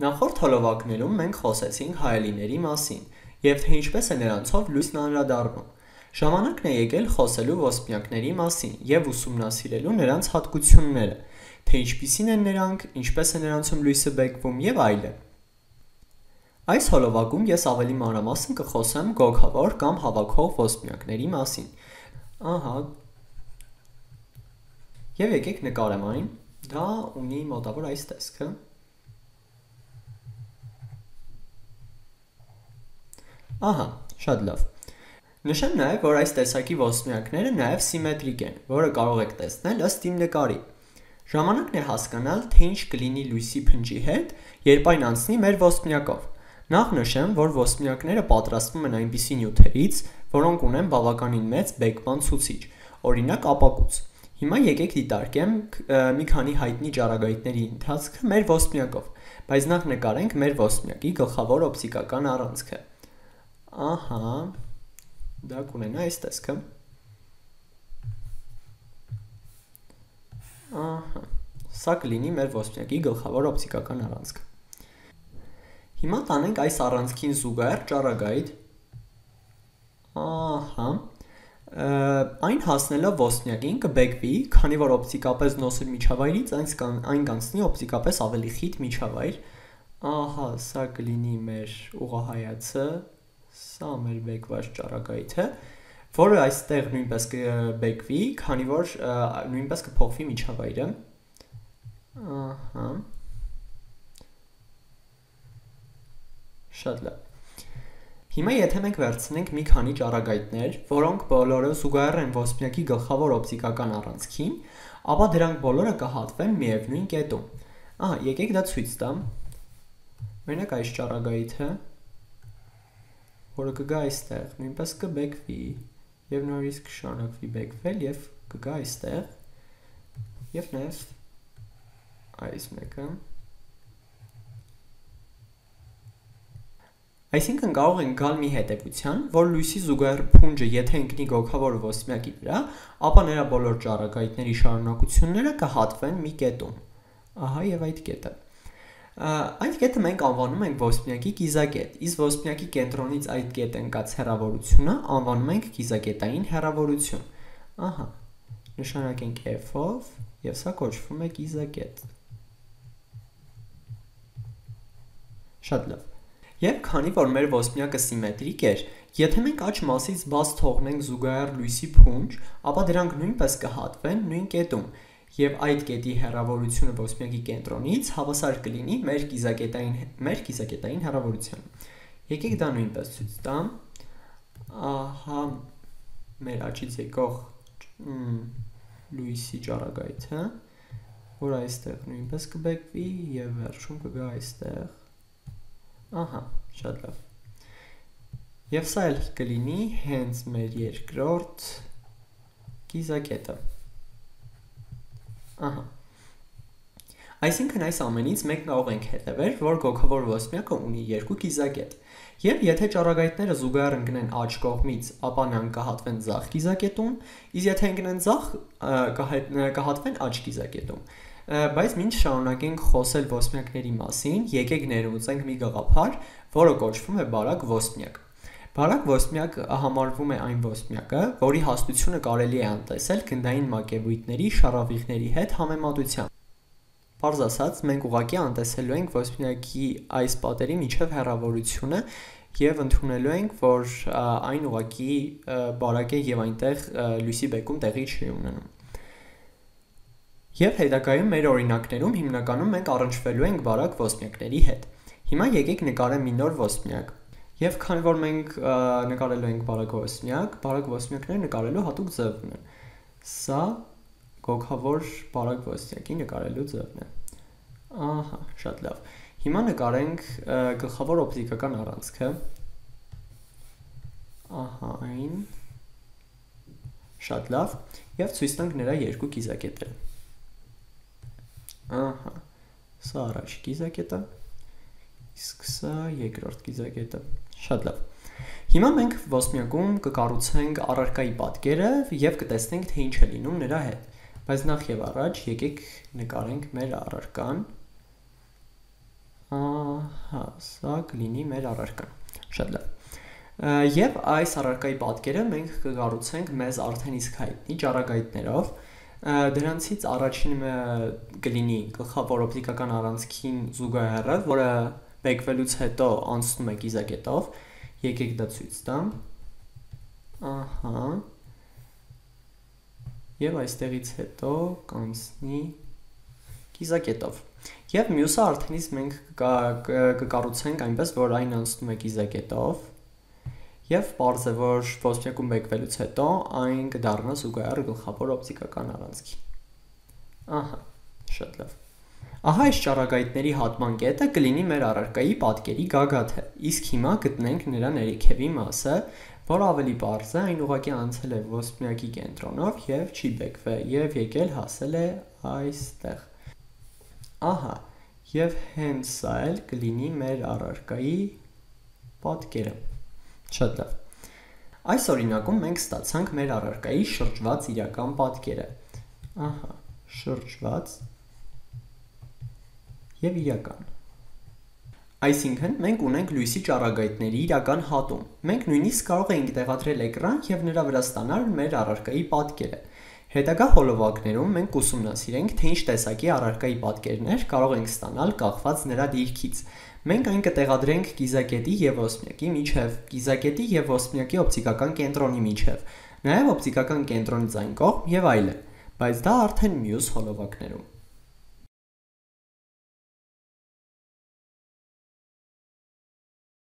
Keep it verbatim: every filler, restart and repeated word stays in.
Նախորդ հոլովակներում մենք խոսեցինք հայելիների մասին և թե ինչպես է նրանցով լույսն անդրադառնում։ Ժամանակն է եկել խոսելու ոսպնյակների մասին և ուսումնասիրելու նրանց հատկությունները, թե ինչպիսին են նրանք, ինչպես է նրանցում լույսը բեկվում և այլն։ Այս հոլովակում ես ավելի մանրամասն կխոսեմ գոգավոր կամ հավաքող ոսպնյակների մասին։ Ահա, և եկեք նկարեմ այն, դա ունի մոտավոր այս տեսքը։ Ահա, շատ լավ։ Նշեմ նաև, որ այս տեսակի ոսպնյակները նաև սիմետրիկ են, որը կարող եք տեսնել ըստ իմ նկարի։ Ժամանակն է հասկանալ, թե ինչ կլինի լույսի փնջի հետ, երբ այն անցնի մեր ոսպնյակով։ Նախ նշեմ, որ ոսպնյակները պատրաստվում են այնպիսի նյութերից, որոնք ունեն բավականին մեծ բեկման ցուցիչ, օրինակ ապակուց։ Հիմա եկեք դիտարկենք մի քանի հայտնի ճառագայթների ընթացքը մեր ոսպնյակով, բայց նախ նկարենք մեր ոսպնյակի գլխավոր օպտիկական առանցքը։ Ահա, դա կունենա այս տեսքը։ Ահա, սա կլինի մեր ոսպնյակի գլխավոր օպտիկական առանցքը։ Հիմա տանենք այս առանցքին զուգահեռ ճառագայթ։ Ահա, այն հասնելով ոսպնյակին կբեկվի, քանի որ օպտիկապես նոսր միջավայրից այն կանցնի օպտիկապես ավելի խիտ միջավայր։ Ահա, սա կլինի մեր ուղղահայացը, սա մեր բեկված ճառագայթը, որը այստեղ նույնպես կբեկվի, քանի որ նույնպես կփոխվի միջավայրը։ Ահա, շատ լավ։ Հիմա եթե մենք վերցնենք մի քանի ճառագայթներ, որոնք բոլորը զուգահեռ են ոսպնյակի գլխավոր օպտիկական առանցքին, ապա դրանք բոլորը կհատվեն միևնույն կետում։ Ահա, եկեք դա ցույց տամ։ Օրինակ այս ճառագայթը, որը կգա այստեղ, նույնպես կբեկվի և նորից կշարունակվի բեկվել և կգա այստեղ և նաև այս մեկը։ Այսինքն կարող ենք գալ մի հետևության, որ լույսի զուգահեռ փունջը եթե ընկնի գոգավոր ոսպնյակի վրա, ապա նրա բոլոր ճառագայթների շարունակությունները կհատվեն մի կետում։ Ահա և այդ կետը։ Այդ կետը մենք անվանում ենք ոսպնյակի կիզակետ, իսկ ոսպնյակի կենտրոնից այդ կետ ընկած հեռավորությունը անվանում ենք կիզակետային հեռավորություն։ Ահա, նշանակենք F-ով և սա կոչվում է կիզակետ։ Շատ լավ։ Եվ քանի որ մեր ոսպնյակը սիմետրիկ էր, եթե մենք աջ մասից բաց թողնենք զուգահեռ լույսի փունջ, ապա դրանք նույնպես կհատվեն նույն կետում, և այդ կետի հեռավորությունը ոսպնյակի կենտրոնից հավասար կլինի մեր կիզակետային, մեր կիզակետային հեռավորությանը։ Եկեք դա նույնպես ցույց տամ։ Ահա մեր աջից եկող լույսի ճառագայթը, որ այստեղ նույնպես կբեկվի և վերջում կգա այստեղ։ Ահա, շատ լավ։ Եվ սա էլ կլինի հենց մեր երկրորդ կիզակետը։ Ահա։ Այսինքն այս ամենից մենք կարող ենք հետևել, որ գոգավոր ոսպնյակը ունի երկու կիզակետ։ Եվ եթե ճառագայթները զուգահեռ ընկնեն աջ կողմից, ապա նրանք կհատվեն ձախ կիզակետում, իսկ եթե ընկնեն ձախ, կհատվեն աջ կիզակետում։ Բայց մինչ շարունակենք խոսել ոսպնյակների մասին, եկեք ներմուծենք մի գաղափար, որը կոչվում է բարակ ոսպնյակ։ Բարակ ոսպնյակ համարվում է այն ոսպնյակը, որի հաստությունը կարելի է անտեսել գնդային մակերույթների շառավիղների հետ համեմատությամբ։ Պարզ ասած, մենք ուղղակի անտեսելու ենք ոսպնյակի այս պատերի միջև հեռավորությունը և ընդունելու ենք, որ այն ուղղակի բարակ է և այնտեղ լույսի բեկում տեղի չի ունենում։ Եվ հետագայում մեր օրինակներում հիմնականում մենք առնչվելու ենք բարակ ոսպնյակների հետ։ Հիմա եկեք նկարեմ մի նոր ոսպնյակ։ Եվ քանի որ մենք նկարելու ենք բարակ ոսպնյակ, բարակ ոսպնյակները նկարելու հատուկ ձև ունեն։ Սա գոգավոր բարակ ոսպնյակի նկարելու ձևն է։ Ահա, շատ լավ։ Հիմա նկարենք գլխավոր օպտիկական առանցքը։ Ահա այն։ Շատ լավ։ Եվ ցույց տանք նրա երկու կիզակետերը։ Ահա, սա առաջի կիզակետը, իսկ սա երկրորդ կիզակետը։ Շատ լավ։ Հիմա մենք ոսպնյակում կկառուցենք առարկայի պատկերը և կտեսնենք, թե ինչ է լինում նրա հետ։ Բայց նախ և առաջ եկեք նկարենք մեր առարկան։ Ահա, սա կլինի մեր առարկան։ Շատ լավ։ Եվ այս առարկայի պատկերը մենք կկառուցենք մեզ արդեն իսկ հայտնի ճառագայթներով։ Դրանցից առաջինը կլինի գլխավոր օպտիկական առանցքին զուգահեռը, որը բեկվելուց հետո անցնում է կիզակետով։ Եկեք դա ցույց տամ։ Ահա։ Եվ այստեղից հետո կանցնի կիզակետով։ Եվ մյուսը արդեն իսկ մենք կկառուցենք այնպես, որ այն անցնում է կիզակետով։ Եվ պարզ է, որ ոսպնյակում բեկվելուց հետո այն կդառնա զուգահեռ գլխավոր օպտիկական առանցքին։ Ահա, շատ լավ։ Ահա այս ճառագայթների հատման կետը կլինի մեր առարկայի պատկերի գագաթը, իսկ հիմա գտնենք նրա ներքևի մասը, որը ավելի պարզ է, այն ուղղակի անցել է ոսպնյակի կենտրոնով եւ չի բեկվել եւ եկել հասել է այստեղ։ Ահա, եւ հենց սա էլ կլինի մեր առարկայի պատկերը։ Շատ լավ։ Այս օրինակում մենք ստացանք մեր առարկայի շրջված իրական պատկերը։ Ահա, շրջված եւ իրական։ Այսինքն մենք ունենք լույսի ճառագայթների իրական հատում։ Մենք նույնիսկ կարող ենք տեղադրել էկրան եւ նրա վրա ստանալ մեր առարկայի պատկերը։ Հետագա հոլովակներում մենք կուսումնասիրենք, թե ինչ տեսակի առարկայի պատկերներ կարող ենք ստանալ կախված նրա դիրքից։ Մենք այն կտեղադրենք կիզակետի եւ ոսպնյակի միջև, կիզակետի եւ ոսպնյակի օպտիկական կենտրոնի միջև, նաեւ օպտիկական կենտրոնից այն կողմ եւ այլն, բայց դա արդեն մյուս հոլովակներում։